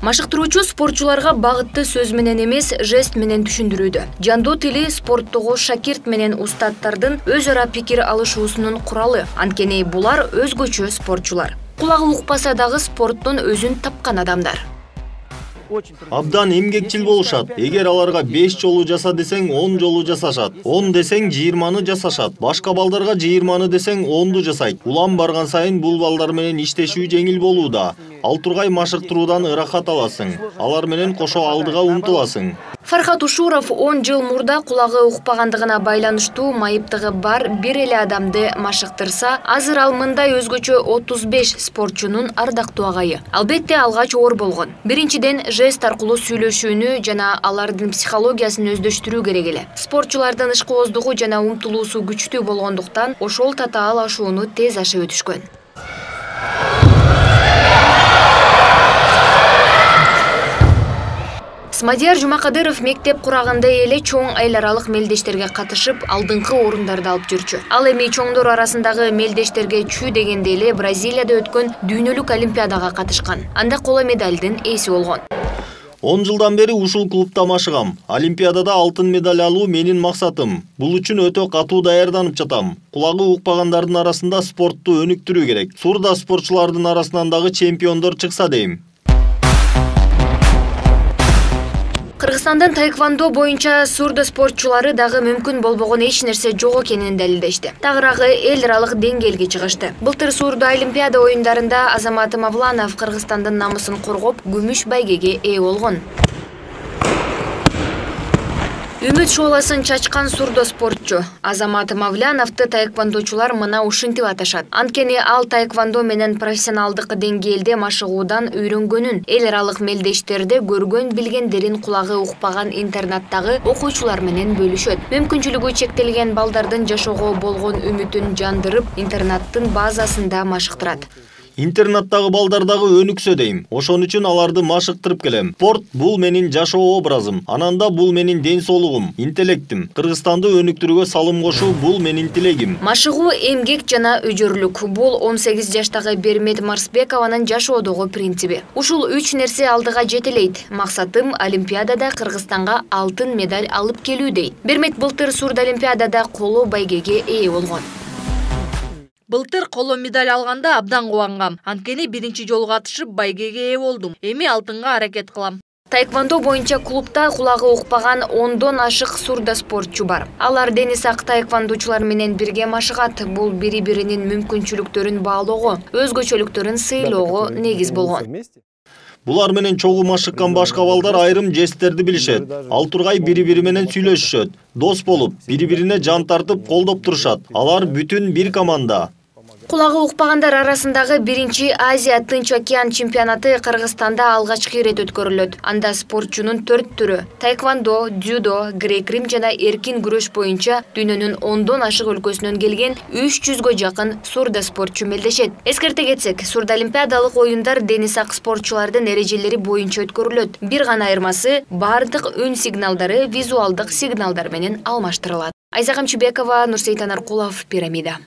Машыктыруучу спортчуларга багытты сөз менен эмес, жест менен түшүндүрүүдө. Жандоо тили спорттогу шакирт менен устаттардын өз ара пикир алышуусунун куралы. Анткени булар өзгөчө спортчулар. Кулагы укпаса дагы спорттун өзүн тапкан адамдар. Абдан эмгекчил болушат. Эгер аларга 5 жолу жаса десең 10 жолу жасашат. 10 десең 20-ны жасашат. Башка балдарга 20-ны десең 10ду жасайт. Улам барган сайын бул балдар менен иштешүү жеңил болууда. Ал тургай машыктыруудан ырахат аласың. Алар менен кошо алдыга умтуласың. Фархат Ушуров 10 жыл мурда кулагы укпагандыгына байланыштуу майыптыгы бар бир эле адамды машыктырса, азыр ал мындай өзгөчө 35 спортчунун ардактуу агайы. Албетте алгач оор болгон. Биринчиден жест аркылуу сүйлөшүүнү жана алардын психологиясын өздөштүрүү керек эле. Спортчулардын ышкооздугу жана умтулуусу күчтүү болгондуктан ошол татаал ашууну тез ашып өтүшкөн. Смадияр Жумакадыров мектеп кураганда эле чоң эл аралык мелдештерге катышып, алдыңкы орундарды алып жүрчү. Ал эми чоңдор арасындагы мелдештерге чүү дегенде эле Бразилияда өткөн дүйнөлүк олимпиадага катышкан. Анда коло медалдын ээси болгон. 10 жылдан бери ушул клубда машыгам. Олимпиадада алтын медаль алуу менин максатым. Бул үчүн өтө катуу даярданып жатам. Кулагы укпагандардын арасында спортту өнүктүрүү керек. Сурда спортчулардын арасынан дагы чемпиондор чыкса дейм. Кыргызстандын таэквондо боюнча сурдо спортчулары дагы мүмкүн болбогон эч нерсе жок экенин далилдешти. Тагыраагы эл аралык деңгээлге чыгышты. Былтыр сурдо олимпиада оюндарында Азамат Мавланов Кыргызстандын намысын коргоп, күмүш байгеге ээ болгон. Үмүт шооласын чачкан сурдо спортчу Азамат Мавлановду таэквондочулар мына ушинтип аташат. Анткени ал таэквондо менен профессионалдык деңгээлде машыгуудан үйрөнгөнүн, эл аралык мелдештерде көргөн билгендерин кулагы укпаган интернаттагы окуучулар менен бөлүшөт. Мүмкүнчүлүгү чектелген балдардын жашоого болгон үмүтүн жандырып, интернаттын базасында машыктырат. Интернаттагы балдар дагы өнүксө дейм. Ошон үчүн аларды машыктырып келем. Спорт бул менин жашоо образым. Ананда бул менин ден соолугум, интеллектим. Кыргызстанды өнүктүрүүгө салым кошуу бул менин тилегим. Машыгуу эмгек жана өжөрлүк. Бул 18 жаштагы Бермет Марсбекованын жашоодогу принциби. Ушул 3 нерсе алдыга жетелейт. Максатым Олимпиадада Кыргызстанга алтын медаль алып келүү дейт. Бермет былтыр сурдо олимпиадада коло байгеге ээ болгон. Былтыр коло медаль алганда абдан кубангам. Анткени биринчи жолу катышып байгеге ээ болдум. Эми алтынга аракет кылам. Таэквондо боюнча клубда кулагы укпаган 10дон ашык сурдо спортчу бар. Алар дени сак таэквондочулар менен бирге машыгат. Бул бири-биринин мүмкүнчүлүктөрүн баалоого, өзгөчөлүктөрүн сыйлоого негиз болгон. Булар менен чогуу машыккан башка балдар айрым жесттерди билишет. Ал тургай бири-бири менен сүйлөшүшөт. Дос болуп, бири-бирине жан тартып, колдоп турушат. Алар бүтүн бир команда. Кулагы укпагандар арасындагы биринчи Азия Тынч океан чемпионаты Кыргызстанда алгачкы ирет өткөрүлөт. Анда спортчунун 4 түрү – таэквондо, дзюдо, грек-рим жана эркин күрөш боюнча дүйнөнүн 10дон ашык өлкөсүнөн келген 300гө жакын сурдо спортчу мелдешет. Эскерте кетсек, сурдо олимпиадалык оюндар дени сак спортчулардын эрежелери боюнча өткөрүлөт. Бир гана айырмасы – бардык үн сигналдары визуалдык сигналдар менен алмаштырылат. Айза Камчыбекова, Нурсейтан Аркулов, Пирамида.